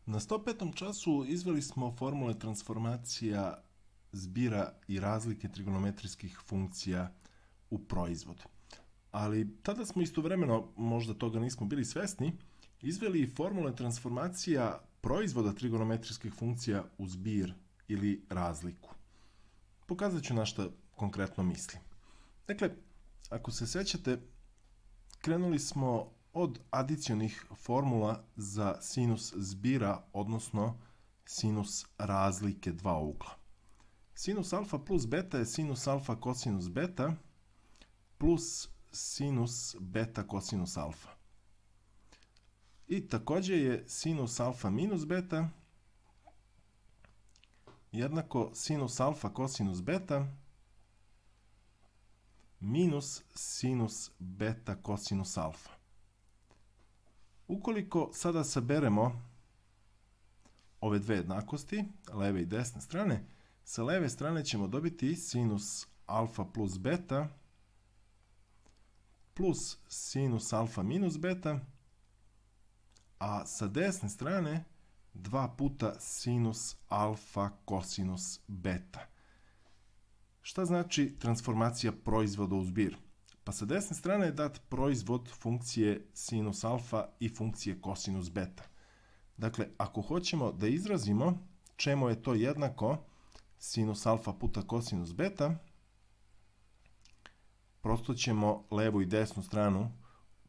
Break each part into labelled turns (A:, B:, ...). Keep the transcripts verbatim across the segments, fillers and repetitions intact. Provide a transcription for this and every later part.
A: Na sto petom času izveli smo formule transformacija zbira i razlike trigonometrijskih funkcija u proizvod. Ali tada smo istovremeno, možda toga nismo bili svesni, izveli i formule transformacija proizvoda trigonometrijskih funkcija u zbir ili razliku. Pokazat ću na šta konkretno mislim. Dakle, ako se sećate, krenuli smo od adicionih formula za sinus zbira, odnosno sinus razlike dva ugla. Sinus alfa plus beta je sinus alfa kosinus beta plus sinus beta kosinus alfa. I također je sinus alfa minus beta jednako sinus alfa kosinus beta minus sinus beta kosinus alfa. Ukoliko sada saberemo ove dve jednakosti, leve i desne strane, sa leve strane ćemo dobiti sinus alfa plus beta plus sinus alfa minus beta, a sa desne strane dva puta sinus alfa kosinus beta. Šta znači transformacija proizvoda u zbir? Pa sa desne strane je dat proizvod funkcije sinus alfa i funkcije kosinus beta. Dakle, ako hoćemo da izrazimo čemu je to jednako sinus alfa puta kosinus beta, prosto ćemo levu i desnu stranu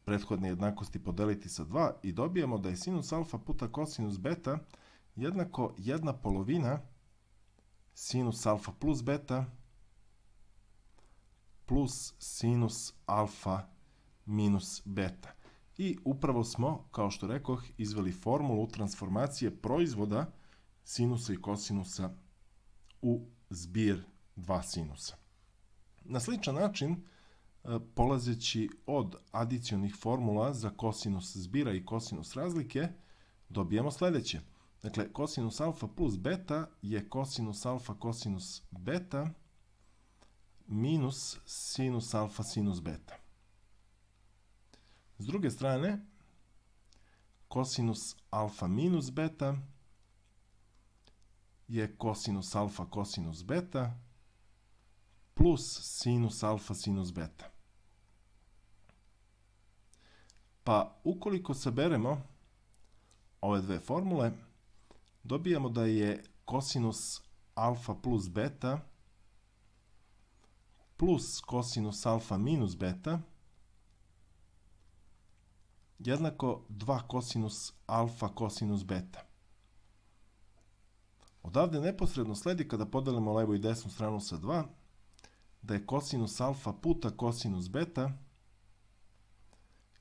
A: prethodne jednakosti podeliti sa dva i dobijemo da je sinus alfa puta kosinus beta jednako jedna polovina sinus alfa plus beta plus sinus alfa minus beta. I upravo smo, kao što rekoh, izveli formulu transformacije proizvoda sinusa i kosinusa u zbir dva sinusa. Na sličan način, polazeći od adicionih formula za kosinus zbira i kosinus razlike, dobijamo sljedeće. Dakle, kosinus alfa plus beta je kosinus alfa kosinus beta minus sinus alfa sinus beta. S druge strane, kosinus alfa minus beta je kosinus alfa kosinus beta plus sinus alfa sinus beta. Pa ukoliko saberemo ove dve formule, dobijamo da je kosinus alfa plus beta plus kosinus alfa minus beta jednako dva kosinus alfa kosinus beta. Odavde neposredno sledi, kada podelimo levu i desnu stranu sa dva, da je kosinus alfa puta kosinus beta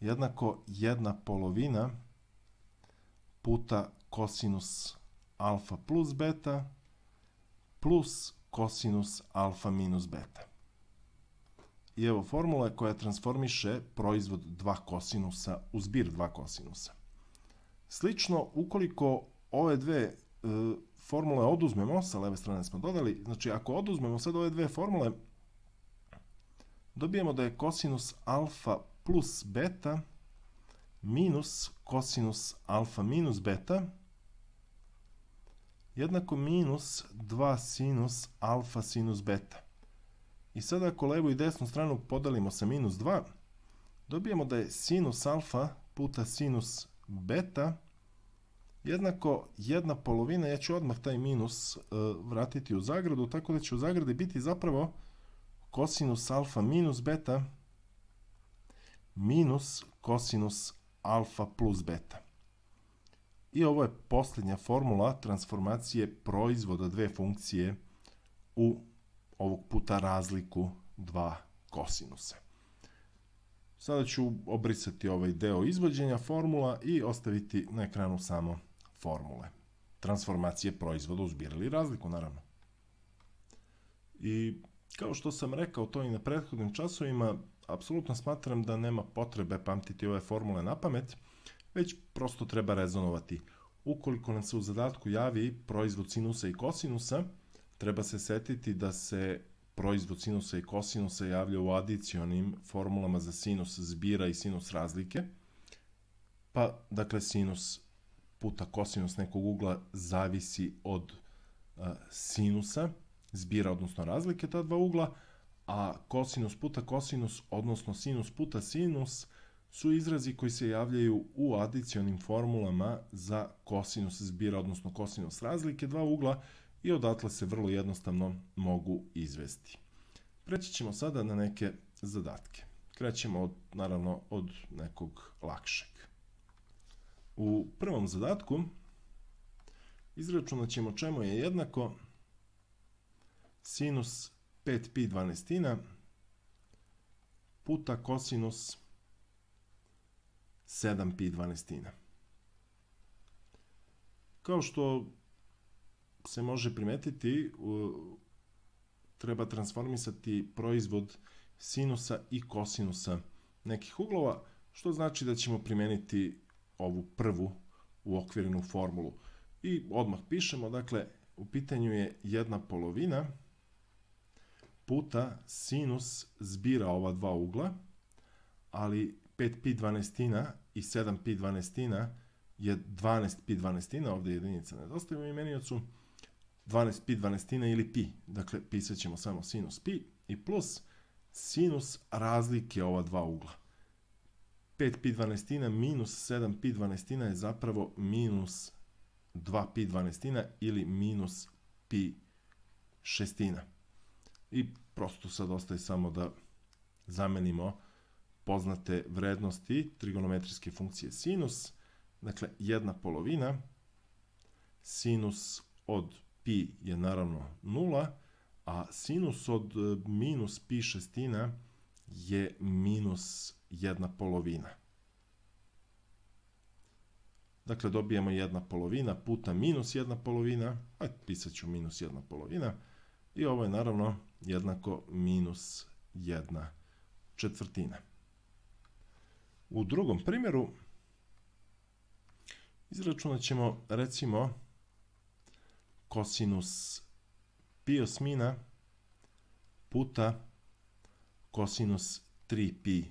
A: jednako jedna polovina puta kosinus alfa plus beta plus kosinus alfa minus beta. I evo formula koja transformiše proizvod dva kosinusa u zbir dva kosinusa. Slično, ukoliko ove dve e, formule oduzmemo, sa leve strane smo dodali, znači ako oduzmemo sad ove dve formule, dobijemo da je kosinus alfa plus beta minus kosinus alfa minus beta jednako minus dva sinus alfa sinus beta. I sada ako levu i desnu stranu podelimo sa minus dva, dobijemo da je sinus alfa puta sinus beta jednako jedna polovina, ja ću odmah taj minus uh, vratiti u zagradu, tako da će u zagradi biti zapravo kosinus alfa minus beta minus kosinus alfa plus beta. I ovo je posljednja formula transformacije proizvoda dve funkcije u ovog puta razliku dva kosinusa. Sada ću obrisati ovaj deo izvođenja formula i ostaviti na ekranu samo formule. Transformacije proizvoda u zbir ili razliku, naravno. I kao što sam rekao to i na prethodnim časovima, apsolutno smatram da nema potrebe pamtiti ove formule na pamet, već prosto treba rezonovati. Ukoliko nam se u zadatku javi proizvod sinusa i kosinusa, treba se setiti da se proizvod sinusa i kosinusa javlja u adicionim formulama za sinus zbira i sinus razlike. Pa, dakle, sinus puta kosinus nekog ugla zavisi od uh, sinusa, zbira, odnosno razlike ta dva ugla, a kosinus puta kosinus, odnosno sinus puta sinus, su izrazi koji se javljaju u adicionim formulama za kosinus zbira, odnosno kosinus razlike dva ugla, i odatle se vrlo jednostavno mogu izvesti. Preći ćemo sada na neke zadatke. Krećemo od, naravno od nekog lakšeg. U prvom zadatku izračunat ćemo čemu je jednako sinus pet pi dvanaestina puta kosinus sedam pi dvanaestina. Kao što se može primetiti, treba transformisati proizvod sinusa i kosinusa nekih uglova, što znači da ćemo primeniti ovu prvu uokvirenu formulu. I odmah pišemo, dakle, u pitanju je jedna polovina puta sinus zbira ova dva ugla, ali pet pi dvanaestina i sedam pi dvanaestina je dvanaest pi dvanaestina, ovdje jedinica nedostaje u imeniocu, dvanaest pi dvanaestina ili pi, dakle pisat ćemo samo sinus pi, i plus sinus razlike ova dva ugla. pet pi dvanaestina minus sedam pi dvanaestina je zapravo minus dva pi dvanaestina ili minus pi šestina. I prosto sad ostaje samo da zamenimo poznate vrednosti trigonometrijske funkcije sinus, dakle jedna polovina, sinus od pi je naravno nula, a sinus od minus pi šestina je minus jedna polovina. Dakle, dobijemo jedna polovina puta minus jedna polovina, a pisat ću minus jedna polovina, i ovo je naravno jednako minus jedna četvrtina. U drugom primjeru izračunat ćemo, recimo, kosinus pi osmina puta kosinus tri pi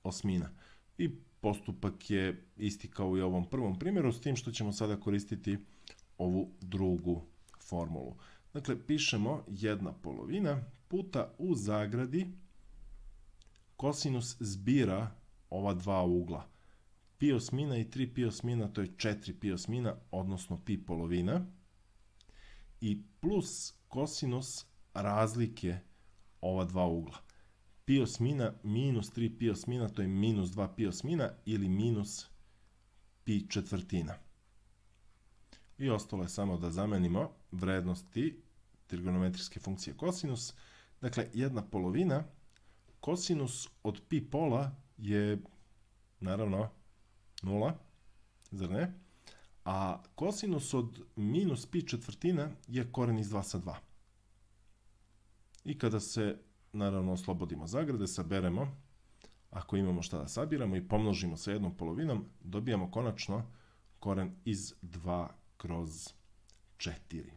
A: osmina. I postupak je isti kao i u ovom prvom primjeru, s tim što ćemo sada koristiti ovu drugu formulu. Dakle, pišemo jedna polovina puta u zagradi kosinus zbira ova dva ugla. Pi osmina i tri pi osmina, to je četiri pi osmina, odnosno pi polovina, i plus kosinus razlike ova dva ugla. Pi osmina minus tri pi osmina, to je minus dva pi osmina ili minus pi četvrtina. I ostalo je samo da zamenimo vrednosti trigonometrijske funkcije kosinus. Dakle, jedna polovina, kosinus od pi pola je naravno nula, zar ne? A kosinus od minus pi četvrtina je koren iz dva sa dva. I kada se, naravno, oslobodimo zagrade, saberemo, ako imamo šta da sabiramo, i pomnožimo sa jednom polovinom, dobijamo konačno koren iz dva kroz četiri.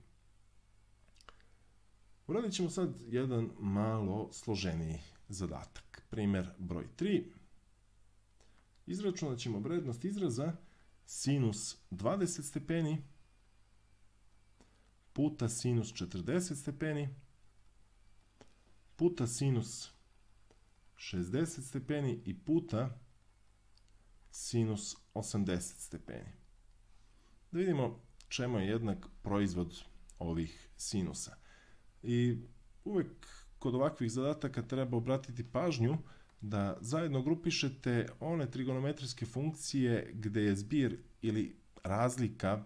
A: Uradit ćemo sad jedan malo složeniji zadatak. Primjer broj tri. Izračunat ćemo vrednost izraza sinus dvadeset stepeni puta sinus četrdeset stepeni puta sinus šezdeset stepeni i puta sinus osamdeset stepeni. Da vidimo čemu je jednak proizvod ovih sinusa. I uvek kod ovakvih zadataka treba obratiti pažnju da zajedno grupišete one trigonometrijske funkcije gde je zbir ili razlika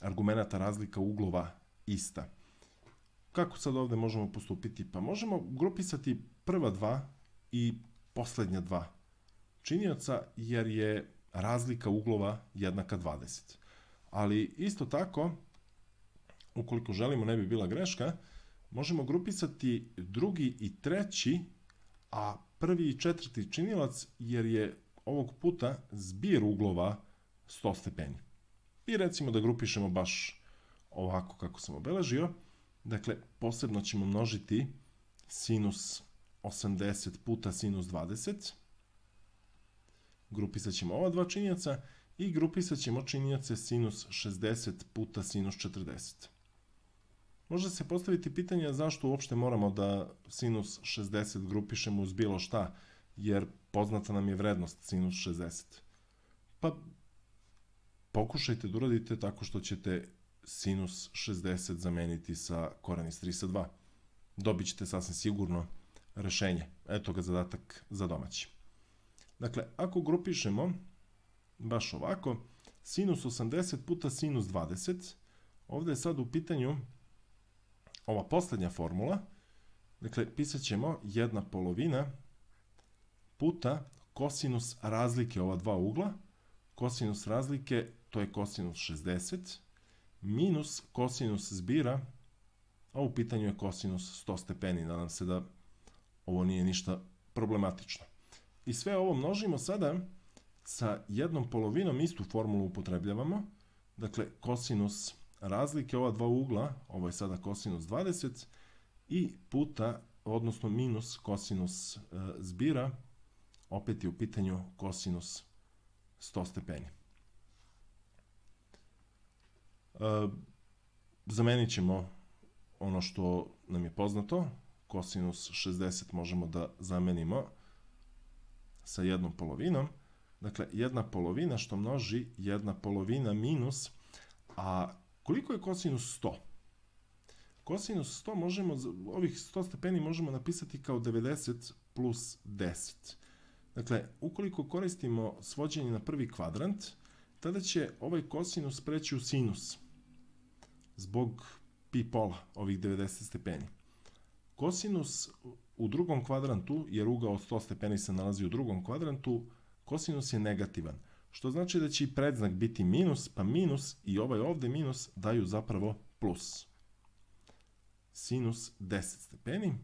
A: argumenata, razlika uglova ista. Kako sad ovde možemo postupiti? Pa možemo grupisati prva dva i poslednja dva činioca, jer je razlika uglova jednaka dvadeset. Ali isto tako, ukoliko želimo ne bi bila greška, možemo grupisati drugi i treći, a prvi i četvrti činilac, jer je ovog puta zbir uglova sto stepeni. I recimo da grupišemo baš ovako kako sam obeležio. Dakle, posebno ćemo množiti sinus osamdeset puta sinus dvadeset. Grupisat ćemo ova dva činioca i grupisat ćemo činioce sinus šezdeset puta sinus četrdeset. Može se postaviti pitanje zašto uopšte moramo da sinus šezdeset grupišemo uz bilo šta, jer poznata nam je vrednost sinus šezdeset. Pa pokušajte da uradite tako što ćete sinus šezdeset zameniti sa koren iz tri sa dva. Dobit ćete sasvim sigurno rešenje. Eto ga zadatak za domaći. Dakle, ako grupišemo baš ovako, sinus osamdeset puta sinus dvadeset, ovde je sad u pitanju ova poslednja formula, dakle, pisat ćemo jedna polovina puta kosinus razlike ova dva ugla, kosinus razlike, to je kosinus šezdeset, minus kosinus zbira, a u pitanju je kosinus sto stepeni, nadam se da ovo nije ništa problematično. I sve ovo množimo sada sa jednom polovinom, istu formulu upotrebljavamo, dakle, kosinus razlike ova dva ugla, ovo je sada kosinus dvadeset, i puta, odnosno minus kosinus e, zbira, opet je u pitanju kosinus sto stepeni. E, zamenit ćemo ono što nam je poznato, kosinus šezdeset možemo da zamenimo sa jednom polovinom, dakle, jedna polovina što množi jedna polovina minus, a koliko je kosinus sto? Kosinus sto možemo, ovih sto stepeni možemo napisati kao devedeset plus deset. Dakle, ukoliko koristimo svođenje na prvi kvadrant, tada će ovaj kosinus preći u sinus, zbog pi pola, ovih devedeset stepeni. Kosinus u drugom kvadrantu, jer ugao sto stepeni se nalazi u drugom kvadrantu, kosinus je negativan, što znači da će i predznak biti minus, pa minus i ovaj ovde minus daju zapravo plus. Sinus deset stepeni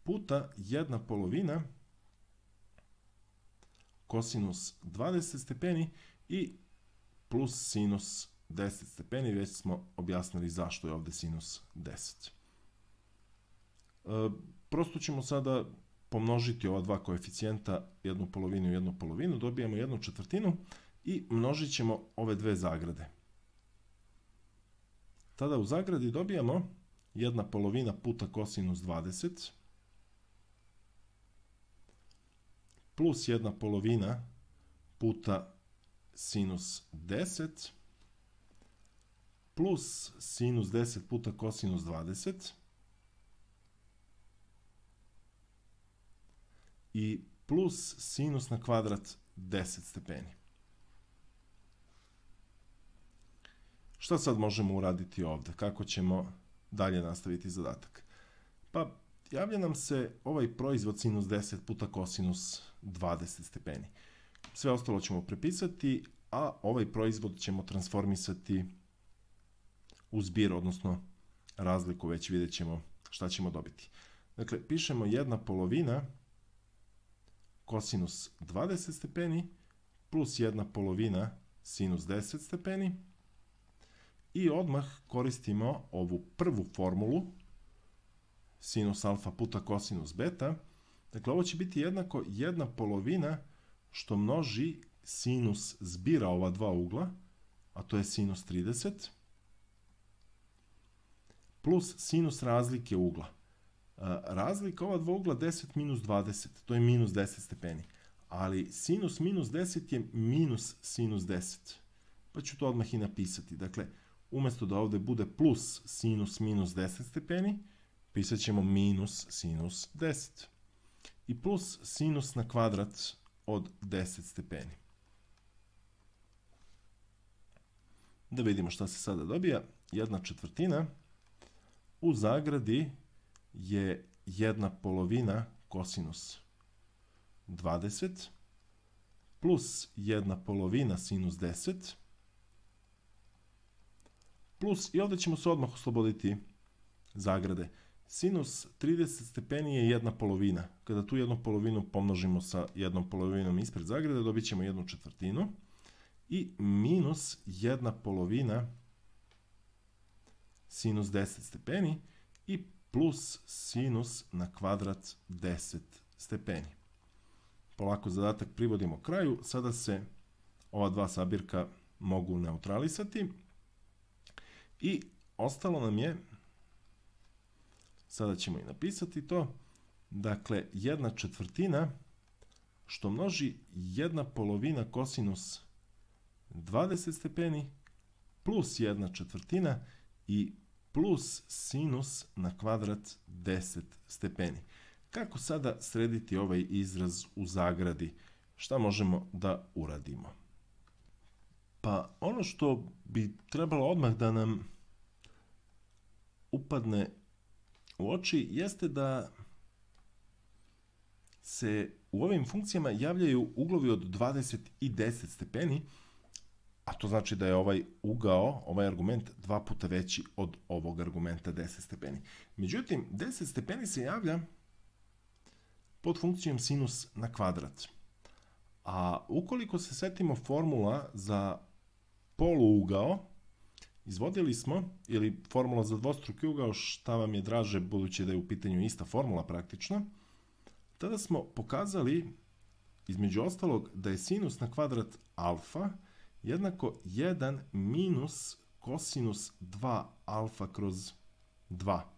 A: puta jedna polovina kosinus dvadeset stepeni i plus sinus deset stepeni, već smo objasnili zašto je ovde sinus deset. E, prosto ćemo sada pomnožiti ova dva koeficijenta, jednu polovinu i jednu polovinu, dobijamo jednu četvrtinu i množit ćemo ove dve zagrade. Tada u zagradi dobijamo jedna polovina puta kosinus dvadeset plus jedna polovina puta sinus deset plus sinus deset puta kosinus dvadeset i plus sinus na kvadrat deset stepeni. Šta sad možemo uraditi ovde? Kako ćemo dalje nastaviti zadatak? Pa, javlja nam se ovaj proizvod sinus deset puta kosinus dvadeset stepeni. Sve ostalo ćemo prepisati, a ovaj proizvod ćemo transformisati u zbir, odnosno razliku, već vidjet ćemo šta ćemo dobiti. Dakle, pišemo jedna polovina kosinus dvadeset stepeni plus jedna polovina sinus deset stepeni i odmah koristimo ovu prvu formulu sinus alfa puta kosinus beta. Dakle, ovo će biti jednako jedna polovina što množi sinus zbira ova dva ugla, a to je sinus trideset, plus sinus razlike ugla. Razlika ova dva ugla deset minus dvadeset, to je minus deset stepeni, ali sinus minus deset je minus sinus deset, pa ću to odmah i napisati. Dakle, umesto da ovde bude plus sinus minus deset stepeni, pisat ćemo minus sinus deset. I plus sinus na kvadrat od deset stepeni. Da vidimo šta se sada dobija. Jedna četvrtina u zagradi je jedna polovina kosinus dvadeset plus jedna polovina sinus deset plus, i ovde ćemo se odmah osloboditi zagrade. Sinus trideset stepeni je jedna polovina. Kada tu jednu polovinu pomnožimo sa jednom polovinom ispred zagrade, dobit ćemo jednu četvrtinu i minus jedna polovina sinus deset stepeni i plus sinus na kvadrat deset stepeni. Polako zadatak privodimo kraju. Sada se ova dva sabirka mogu neutralisati. I ostalo nam je, sada ćemo i napisati to, dakle, jedna četvrtina što množi jedna polovina kosinus dvadeset stepeni plus jedna četvrtina i plus sinus na kvadrat deset stepeni. Kako sada srediti ovaj izraz u zagradi? Šta možemo da uradimo? Pa ono što bi trebalo odmah da nam upadne u oči jeste da se u ovim funkcijama javljaju uglovi od dvadeset i deset stepeni, a to znači da je ovaj ugao, ovaj argument dva puta veći od ovog argumenta deset stepeni. Međutim, deset stepeni se javlja pod funkcijom sinus na kvadrat. A ukoliko se setimo formula za poluugao, izvodili smo, ili formula za dvostruki ugao, šta vam je draže, budući da je u pitanju ista formula praktično, tada smo pokazali, između ostalog, da je sinus na kvadrat alfa jednako jedan minus kosinus dva alfa kroz dva.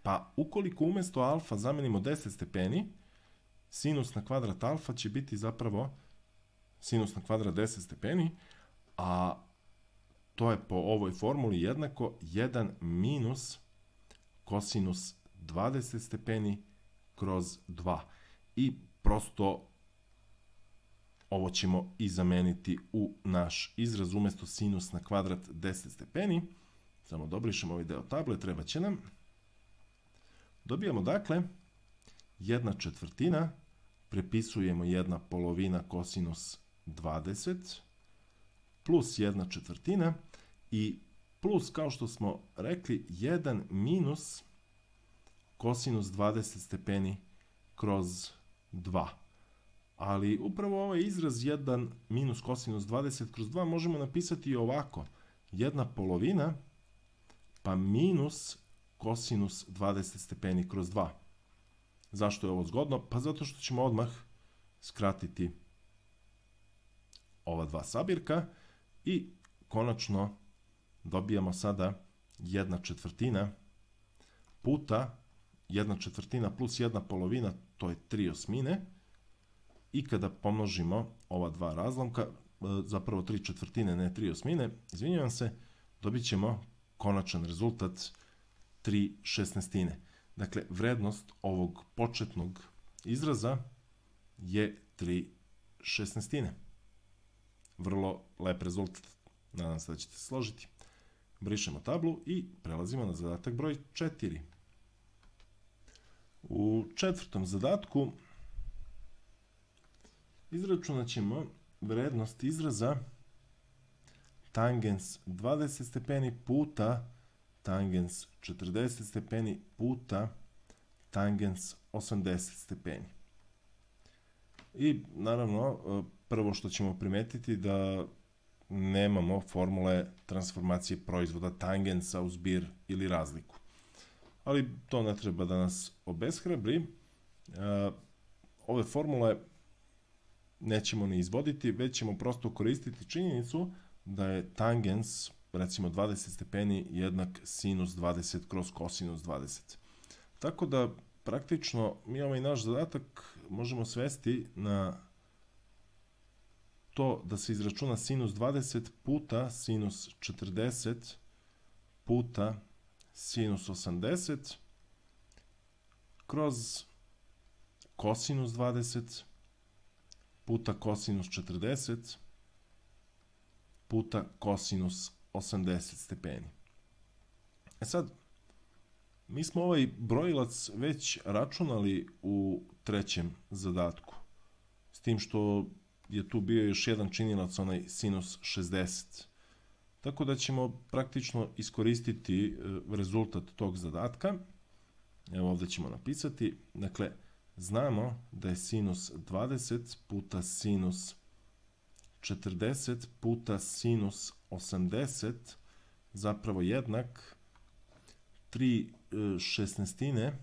A: Pa ukoliko umjesto alfa zamenimo deset stepeni, sinus na kvadrat alfa će biti zapravo sinus na kvadrat deset stepeni, a to je po ovoj formuli jednako jedan minus kosinus dvadeset stepeni kroz dva. I prosto ovo ćemo i zameniti u naš izraz umjesto sinus na kvadrat deset stepeni. Samo dobrišemo ovaj deo table, treba će nam. Dobijamo dakle jedna četvrtina, prepisujemo jedna polovina kosinus dvadeset, plus jedna četvrtina i plus, kao što smo rekli, jedan minus kosinus dvadeset stepeni kroz dva. Ali upravo ovaj izraz jedan minus kosinus dvadeset kroz dva možemo napisati i ovako. Jedna polovina pa minus kosinus dvadeset stepeni kroz dva. Zašto je ovo zgodno? Pa zato što ćemo odmah skratiti ova dva sabirka i konačno dobijamo sada jedna četvrtina puta jedna četvrtina plus jedna polovina, to je tri osmine. I kada pomnožimo ova dva razlomka, zapravo tri četvrtine, ne tri osmine, izvinjavam se, dobit ćemo konačan rezultat tri šesnaestine. Dakle, vrednost ovog početnog izraza je tri šesnaestine. Vrlo lep rezultat. Nadam se da ćete se složiti. Brišemo tablu i prelazimo na zadatak broj četiri. U četvrtom zadatku izračunat ćemo vrednost izraza tangens dvadeset stepeni puta tangens četrdeset stepeni puta tangens osamdeset stepeni. I naravno, prvo što ćemo primetiti da nemamo formule transformacije proizvoda tangensa u zbir ili razliku. Ali to ne treba da nas obeshrabri. Ove formule nećemo ni izvoditi, već ćemo prosto koristiti činjenicu da je tangens, recimo dvadeset stepeni, jednak sinus dvadeset kroz kosinus dvadeset. Tako da praktično mi ovaj naš zadatak možemo svesti na to da se izračuna sinus dvadeset puta sinus četrdeset puta sinus osamdeset kroz kosinus dvadeset puta kosinus četrdeset puta kosinus osamdeset stepeni. E sad, mi smo ovaj brojilac već računali u trećem zadatku, s tim što je tu bio još jedan činilac, onaj sinus šezdeset. Tako da ćemo praktično iskoristiti rezultat tog zadatka. Evo ovdje ćemo napisati, dakle, znamo da je sinus dvadeset puta sinus četrdeset puta sinus osamdeset zapravo jednak tri šesnaestine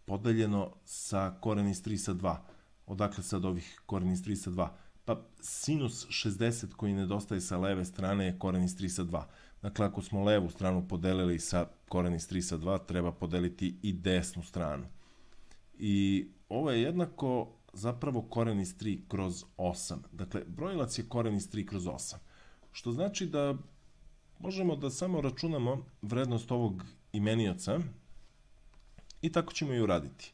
A: podeljeno sa koren iz tri sa dva. Odakle sad ovih koren iz tri sa dva? Pa sinus šezdeset koji nedostaje sa leve strane je koren iz tri sa dva. Dakle, ako smo levu stranu podelili sa koren iz tri sa dva, treba podeliti i desnu stranu. I ovo je jednako zapravo koren iz tri kroz osam. Dakle, brojilac je koren iz tri kroz osam. Što znači da možemo da samo računamo vrednost ovog imenioca i tako ćemo i uraditi.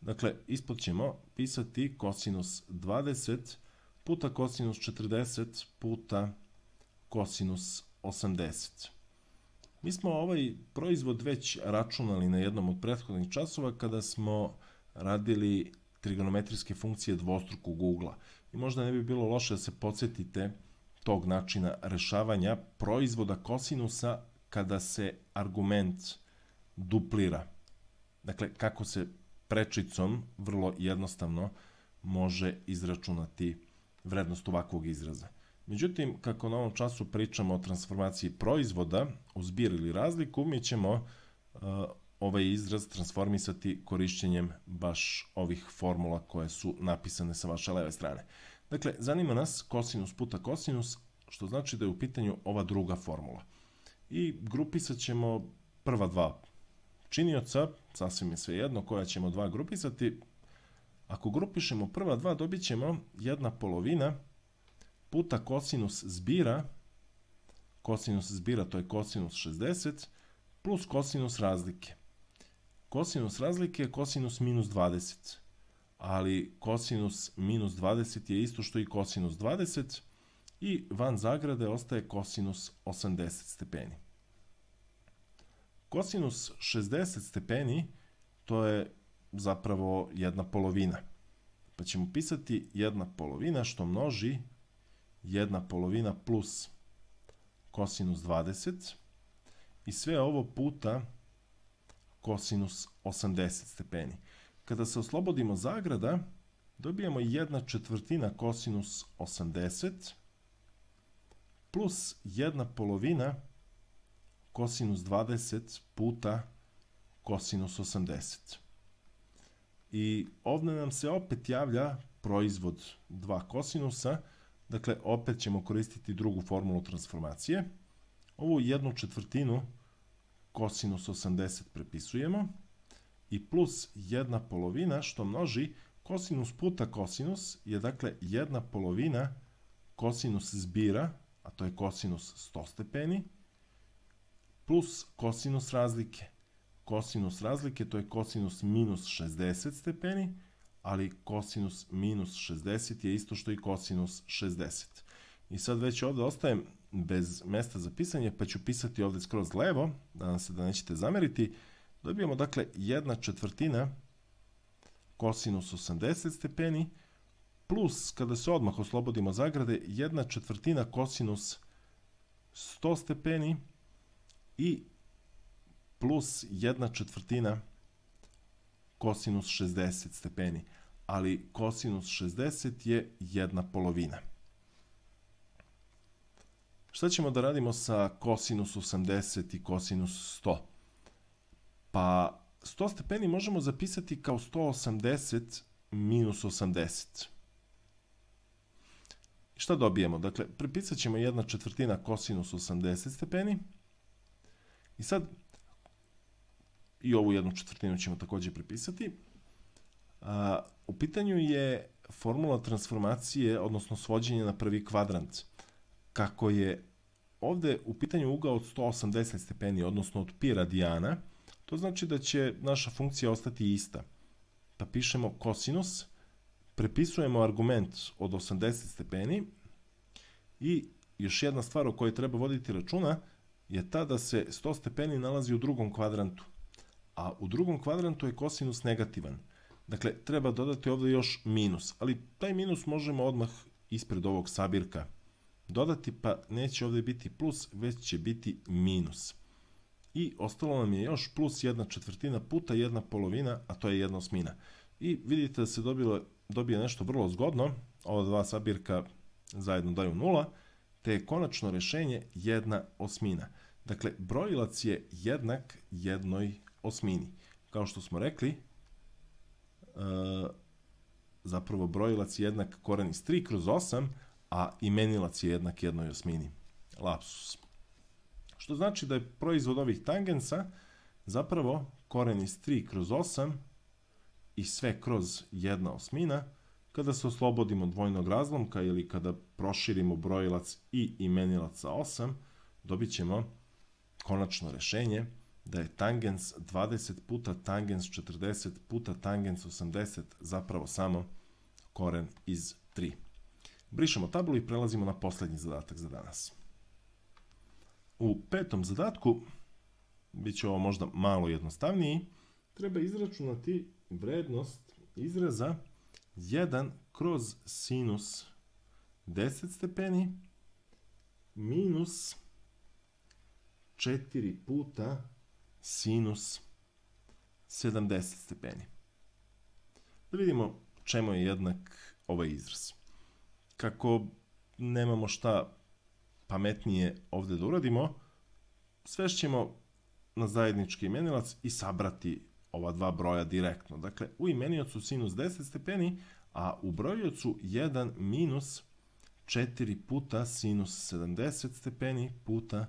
A: Dakle, ispod ćemo pisati kosinus dvadeset puta kosinus četrdeset puta kosinus osamdeset. Mi smo ovaj proizvod već računali na jednom od prethodnih časova kada smo radili trigonometrijske funkcije dvostrukog ugla. I možda ne bi bilo loše da se podsjetite tog načina rešavanja proizvoda kosinusa kada se argument duplira. Dakle, kako se prečicom vrlo jednostavno može izračunati vrednost ovakvog izraza. Međutim, kako na ovom času pričamo o transformaciji proizvoda u zbir ili razliku, mi ćemo uh, ovaj izraz transformisati korišćenjem baš ovih formula koje su napisane sa vaše leve strane. Dakle, zanima nas kosinus puta kosinus, što znači da je u pitanju ova druga formula. I grupisat ćemo prva dva činioca, sasvim je svejedno koja ćemo dva grupisati. Ako grupišemo prva dva, dobit ćemo jedna polovina puta kosinus zbira, kosinus zbira to je kosinus šezdeset, plus kosinus razlike. Kosinus razlike je kosinus minus dvadeset, ali kosinus minus dvadeset je isto što i kosinus dvadeset i van zagrade ostaje kosinus osamdeset stepeni. Kosinus šezdeset stepeni to je zapravo jedna polovina. Pa ćemo pisati jedna polovina što množi jedna polovina plus kosinus dvadeset i sve ovo puta kosinus osamdeset stepeni. Kada se oslobodimo zagrada, dobijamo jedna četvrtina kosinus osamdeset plus jedna polovina kosinus dvadeset puta kosinus osamdeset. I ovdje nam se opet javlja proizvod dva kosinusa, dakle opet ćemo koristiti drugu formulu transformacije. Ovu jednu četvrtinu kosinus osamdeset prepisujemo i plus jedna polovina što množi kosinus puta kosinus je dakle jedna polovina kosinus zbira, a to je kosinus sto stepeni, plus kosinus razlike. Kosinus razlike to je kosinus minus šezdeset stepeni, ali kosinus minus šezdeset je isto što i kosinus šezdeset. I sad već ovdje ostajem bez mesta za pisanje, pa ću pisati ovdje skroz levo, nadam se da nećete zameriti. Dobijemo dakle jedna četvrtina kosinus osamdeset stepeni, plus kada se odmah oslobodimo zagrade, jedna četvrtina kosinus sto stepeni i plus jedna četvrtina kosinus šezdeset stepeni, ali kosinus šezdeset je jedna polovina. Šta ćemo da radimo sa kosinus osamdeset i kosinus sto? Pa sto stepeni možemo zapisati kao sto osamdeset minus osamdeset. Šta dobijemo? Dakle, prepisat ćemo jedna četvrtina kosinus osamdeset stepeni i sad i ovu jednu četvrtinu ćemo također prepisati. A, u pitanju je formula transformacije, odnosno svođenja na prvi kvadrant. Kako je ovdje u pitanju ugao od sto osamdeset stepeni, odnosno od pi radijana, to znači da će naša funkcija ostati ista. Pa pišemo kosinus, prepisujemo argument od osamdeset stepeni i još jedna stvar o kojoj treba voditi računa je ta da se sto stepeni nalazi u drugom kvadrantu. A u drugom kvadrantu je kosinus negativan. Dakle, treba dodati ovdje još minus, ali taj minus možemo odmah ispred ovog sabirka dodati, pa neće ovdje biti plus, već će biti minus. I ostalo nam je još plus jedna četvrtina puta jedna polovina, a to je jedna osmina. I vidite da se dobilo, dobije nešto vrlo zgodno, ova dva sabirka zajedno daju nula, te je konačno rješenje jedna osmina. Dakle, brojilac je jednak jednoj osmini. Kao što smo rekli, zapravo brojilac je jednak koren iz tri kroz osam, a imenilac je jednak jednoj osmini. Lapsus. Što znači da je proizvod ovih tangensa zapravo koren iz tri kroz osam i sve kroz jedna osmina. Kada se oslobodimo dvojnog razlomka ili kada proširimo brojilac i imenilac sa osam, dobit ćemo konačno rešenje da je tangens dvadeset puta tangens četrdeset puta tangens osamdeset zapravo samo koren iz tri. Brišemo tablu i prelazimo na poslednji zadatak za danas. U petom zadatku, bit će ovo možda malo jednostavniji, treba izračunati vrednost izraza jedan kroz sinus deset stepeni minus četiri puta sinus sedamdeset stepeni. Da vidimo čemu je jednak ovaj izraz. Kako nemamo šta pametnije ovde da uradimo, svešćemo na zajednički imenilac i sabrati ova dva broja direktno. Dakle, u imeniocu sinus deset stepeni, a u brojiocu jedan minus četiri puta sinus sedamdeset stepeni puta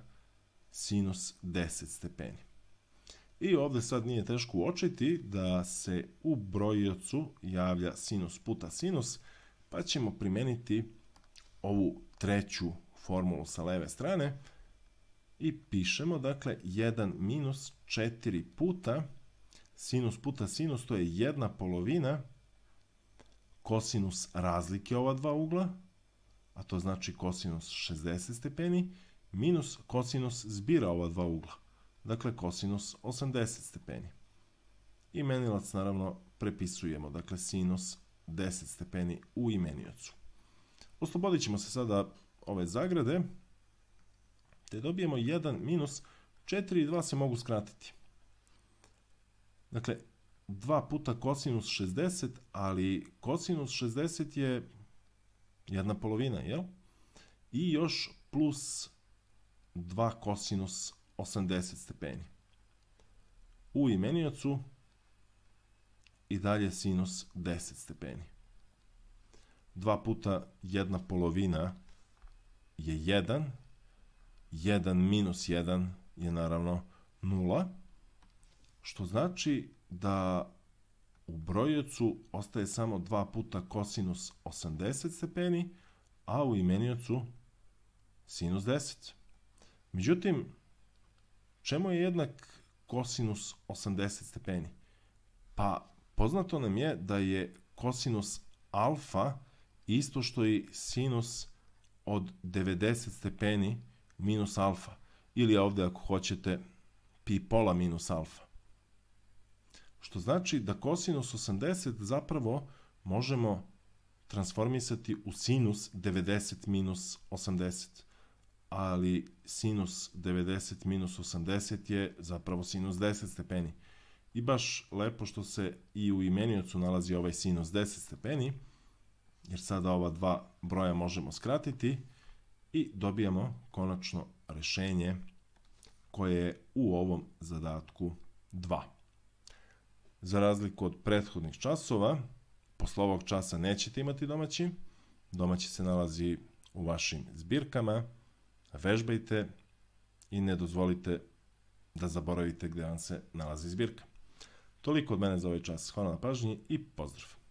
A: sinus deset stepeni. I ovde sad nije teško uočiti da se u brojiocu javlja sinus puta sinus, pa ćemo primeniti ovu treću formulu sa leve strane i pišemo, dakle, jedan minus četiri puta sinus puta sinus, to je jedna polovina kosinus razlike ova dva ugla, a to znači kosinus šezdeset stepeni, minus kosinus zbira ova dva ugla, dakle kosinus osamdeset stepeni. Imenilac naravno prepisujemo, dakle sinus deset stepeni u imeniocu. Oslobodit ćemo se sada ove zagrade, te dobijemo jedan minus četiri i dva se mogu skratiti. Dakle, dva puta kosinus šezdeset, ali kosinus šezdeset je jedna polovina, jel? I još plus dva kosinus osamdeset stepeni. U imeniocu i dalje sinus deset stepeni. dva puta jedna polovina je jedan, jedan minus jedan je naravno nula, što znači da u brojiocu ostaje samo dva puta kosinus osamdeset stepeni, a u imeniocu sinus deset. Međutim, čemu je jednak kosinus osamdeset stepeni? Pa poznato nam je da je kosinus alfa isto što i sinus od devedeset stepeni minus alfa, ili ovde ako hoćete pi pola minus alfa. Što znači da kosinus osamdeset zapravo možemo transformisati u sinus devedeset minus osamdeset, ali sinus devedeset minus osamdeset je zapravo sinus deset stepeni. I baš lepo što se i u imeniocu nalazi ovaj sinus deset stepeni, jer sada ova dva broja možemo skratiti i dobijamo konačno rešenje koje je u ovom zadatku dva. Za razliku od prethodnih časova, posle ovog časa nećete imati domaći. Domaći se nalazi u vašim zbirkama. Vežbajte i ne dozvolite da zaboravite gde vam se nalazi zbirka. Toliko od mene za ovaj čas. Hvala na pažnji i pozdrav!